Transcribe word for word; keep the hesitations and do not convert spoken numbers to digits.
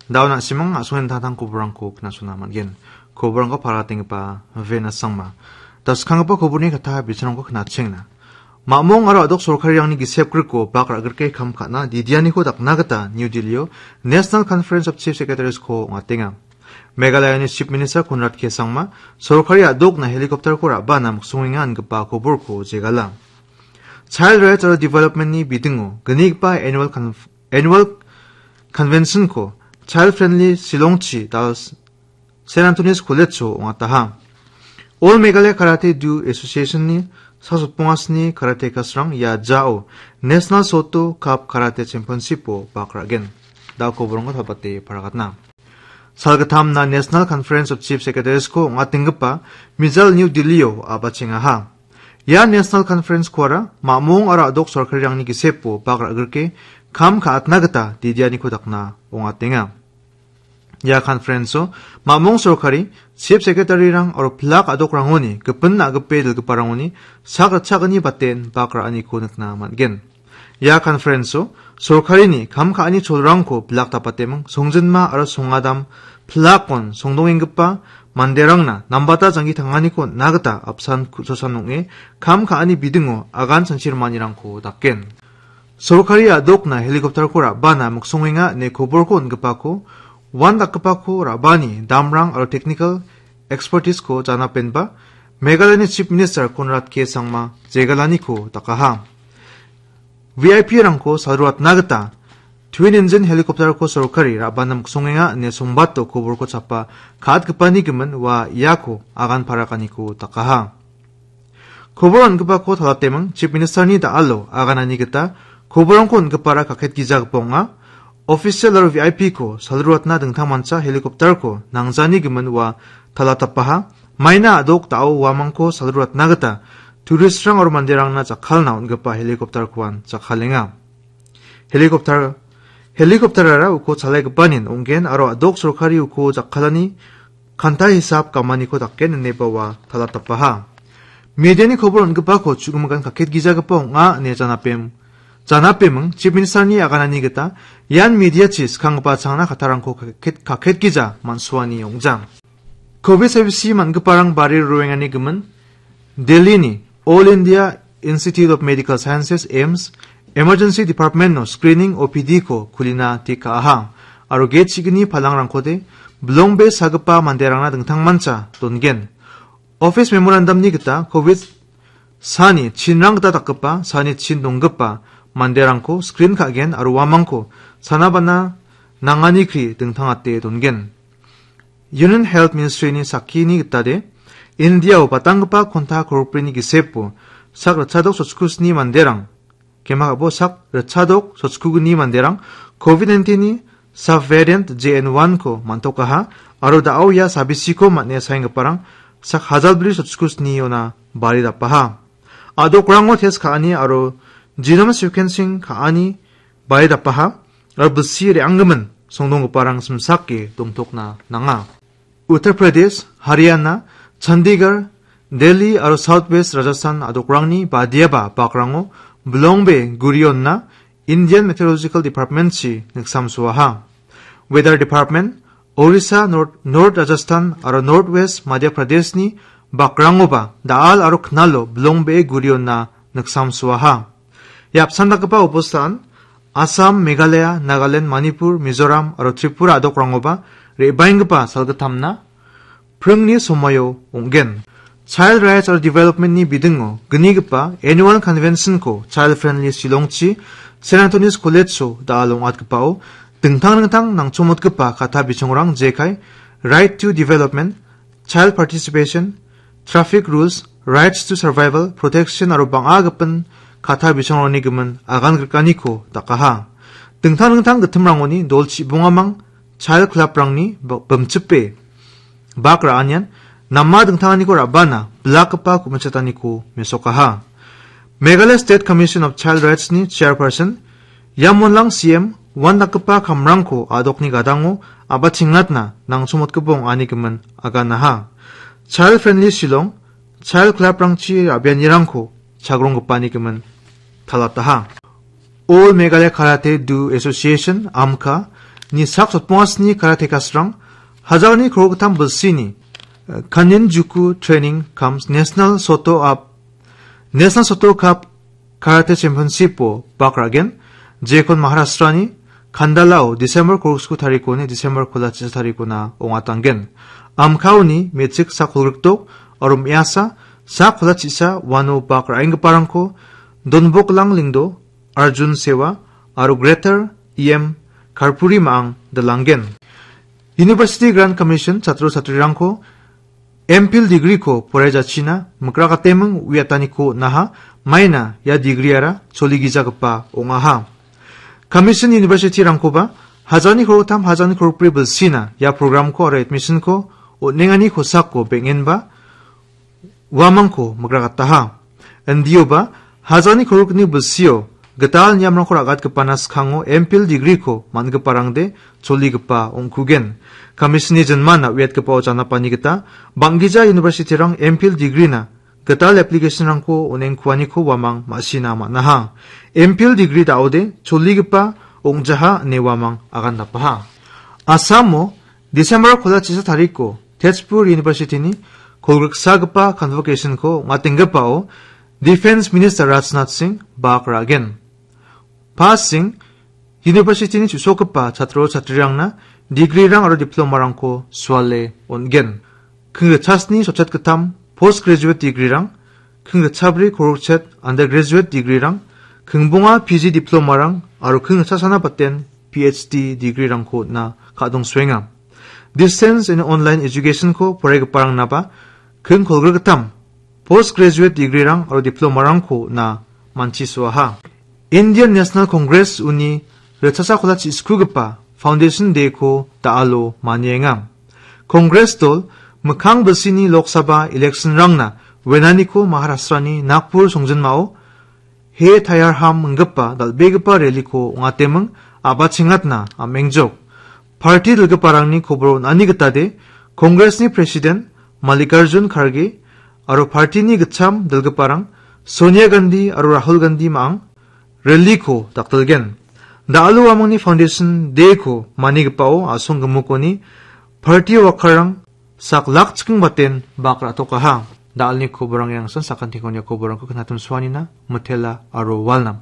Dao na·simang a·songni dingtang dingtang koborrangko knasona man·gen. Koborrangko paratenggipa Venus Sangma. Daskanggipa koborni kata bichanrangko knatchengna. Mamong aro a·dok sorkarirangni gisep griko bak ra·grike kam ka·na didianiko dakna gita New Delhi-o National Conference of Chief Secretaries-ko ong·atenga. Meghalayani Chief Minister Conrad K Sangma sorkari a·dokna helicopter-ko ra·bana miksongenga ingipa koborko jegala. Child Rights aro Development-ni bidingo gnigipa annual conf-, annual convention-ko child friendly Shillongchi dal Saint Anthony's College-o ong·ataha. All Meghalaya Karate Do Association-ni sasotpongasni karatekas-rang ia jao National Soto Cup Karate Championship-o bak ra·gen. Da·o koborongko tabate paragatna. Salgittamna National Conference of Chief Secretaries-ko ong·atenggipa Mijal New Delhi-o a·bachengaha. Ia National Conference-koara mamong aro a·dok sorkarirangni gisepo bak ra·grike kam ka·atna gita didianiko dakna ong·atenga. Ia conference-o mamong sorkari, chief secretary-rang aro pilak a·dokrangoni gipin na·gipe dilgiparangoni sak ritchagni baten bak ra·aniko nikna man·gen. Ia conference-o sorkarini kam ka·ani cholrangko bilak dapateming songjinma aro songadam pilakon songdongenggipa manderangna nambata janggi tanganiko on·na gita apsan ku-, chosan ong·e kam ka·ani bidingo agan chanchi rimanirangko daken. Sorkari a·dokna helicopter-ko ra·bana miksongenga ine koborko on·gipako, uandakgipako ra·bani damrang aro technical expertise-ko janapenba Meghalayani Chief Minister Conrad K Sangma jegalaniko dakaha. V I P-rangko salruatna gita twin engine helicopter-ko sorkari ra·bana miksongenga ine songbato koborko chapa ka·atgipani gimin ua iako agan parakaniko dakaha. Kobor on·gipako talateming Chief Minister-ni da·alo aganani gita koborongko on·gipara kaketgijagipa ong·a. Official aro V I P-ko salruatna dingtangmancha helicopter-ko nangjani gimin ua talatapaha. Maina a·dok da·o uamangko salruatna gita tourist-rang aro manderangna jakkalna on·gipa helicopter-koan jakkalenga. Helicopter, helicopter-ara uko chalaigipanin ong·gen aro a·dok sorkari uko jakkalani kanta hisap gamaniko daken ineba ua talatapaha. Mediani kobor on·gipako chu·gimikan kaketgijagipa ong·a ine janapem-, janapeming Chief Minister-ni aganani gita ian mediachi skanggipa changna kattarangko kaket-, kaketgija man·suani ong·jang. Covid saibisi man·giparang bari roengani gimin Delhi-ni All India Institute of Medical Sciences, AIIMS, Emergency Department-o screening O P D-ko kulina tekaha, aro gate chigini palangrangkode bilongbe sagipa manderangna dingtangmancha dongen. Office memorandum-ni gita Covid sani chinrang gita dakgipa, sani chin donggipa manderangko screen ka·gen aro uamangko sana bana nangani kri dingtangate dongen. Union Health Ministry-ni sakkini gitade, India-o batanggipa konta korokbrini gisepo sak ritchadok sochkusni manderang, kemagabo sak ritchadok sochkugni manderang Covid nineteen-ni subvariant J N one-ko man·tokaha aro da·o ia sabisiko man·e saenggiparang sak hajalbri sochkusniona bari dapaha. A·dokrango test ka·ani aro genome sequencing ka·ani bari dapaha, aro bilsi re·anggimin songdonggiparang simsake dongtokna nanga. Uttar Pradesh, Haryana, Chandigarh, Delhi aro South West Rajasthan a·dokrangni badiaba bakrango bilongbe gurionna Indian Meteorological Department-chi niksamsoaha. Weather Department, Orissa, North, North Rajasthan aro North West Madhya Pradesh-ni bakrangoba da·al aro knalo bilongbee gurionna niksamsoaha. Ia apsan dakgipa obostan Assam, Meghalaya, Nagaland, Manipur, Mizoram aro Tripura a·dokrangoba re·baenggipa salgittamna pringni somoio ong·gen. Child Rights aro Development-ni bidingo gnigipa Annual Convention-ko Child Friendly Shillongchi Saint Anthony's College-o da·al ong·atgipao dingtang dingtang nangchomotgipa kata bichongrang jekai Right to Development, Child Participation, Traffic Rules, Rights to Survival, Protection aro bang·a gipin kata bichongrangni gimin agan grikaniko dakaha. Dingtang dingtang gittimrangoni dol chibongamang Child Club-rangni bo-, bimchipe bak ra·anian nama dingtanganiko ra·bana bilakgipa ku·mechataniko mesokaha. Meghalaya State Commission of Child Rights-ni Chairperson Yamwonlang C M uandakgipa kamrangko a·dokni gadango a·bachengatna nangchomotgipa ong·ani gimin aganaha. Child Friendly Shillong, Child Club-rangchi ra·bianirangko chagronggipa ine gimin talataha. All Meghalaya Karate Do Association, AMKA, ni sak sotpongasni karatekas-rang hajalni krogittam bilsini, eh, Kanenjuku Training cum National Soto Up, National Soto Cup Karate Championship-o bak ra·gen, jekon Maharashtra-ni Khandalao December kolgriksku tarikoni December kolgrichasa tarikona ong·atanggen. Amkaoni me·chik sak kolgrikdok aro me·asa sak kolgrichasa uano bak ra·enggiparangko Donboklang Lingdo, Arjun Sewa aro Greater E M Karpuri ma·ang dilanggen. University Grant Commission chatro chatrirangko M Phil degree-ko poraiajachina mikrakateming uiataniko on·aha, maina ia degree-ara choligijagipa ong·aha. Commission university-rangkoba hajalni kolgrittam, hajalni kolgrikbri bilsina ia program-ko aro admission-ko on·engani kosako beng·enba uamangko mikrakataha. Indioba, hajalni kolgrikni bilsio gital niamrangko ra·gatgipana skango M Phil degree-ko man·giparangde choligipa ong·kugen. Commission-ni jinmana uiatgipao janapani gita, bang·gija university-rang M Phil degree-na gital application-rangko on·engkuaniko uamang ma·sina man·aha. M Phil degree da·ode choligipa ong·jaha ine uamang agandapaha. Assamo December kolgrichasa tariko Tezpur University-ni kolgriksagipa convocation-ko ong·atenggipao Defence Minister Rajnath Singh bak ra·gen. Pa Singh University-ni chu·sokgipa chatro chatrirangna degree-rang aro diploma-rangko suale on·gen. Kingrichasni sotchetgittam postgraduate degree-rang, kingrichasabri kolgrikchet undergraduate degree-rang, kingbonga P G diploma-rang aro kingrichasana baten P H D degree-rangko on·na ka·dongsoenga. Distance and online education-ko poraigiparangnaba king kolgrikgittam postgraduate degree-rang aro diploma-rangko on·na manchisoaha. Indian National Congress uni ritchasa kolgrichaskugipa Foundation Day-ko da·alo manienga. Congress dol mikkang bilsini Lok Sabha election-rangna wenaniko Maharashtra-ni Nagpur songjinmao He Tayar Ham inggipa dal·begipa rally-ko ong·ateming a·bachengatna am·engjok. Party dilgiparangni kobor on·ani gitade Congress-ni President Mallikarjun Kharge aro party-ni gitcham dilgiparang Sonia Gandhi aro Rahul Gandhi ma·ang rally-ko dakdilgen. Da·alo uamangni Foundation Day-ko manigipao a·song gimikoni party worker-rang sak lak chiking baten bak ra·tokaha. Da·alni koborang iangsan sakantikon ia koborangko knatim suanina, mitela aro walnam.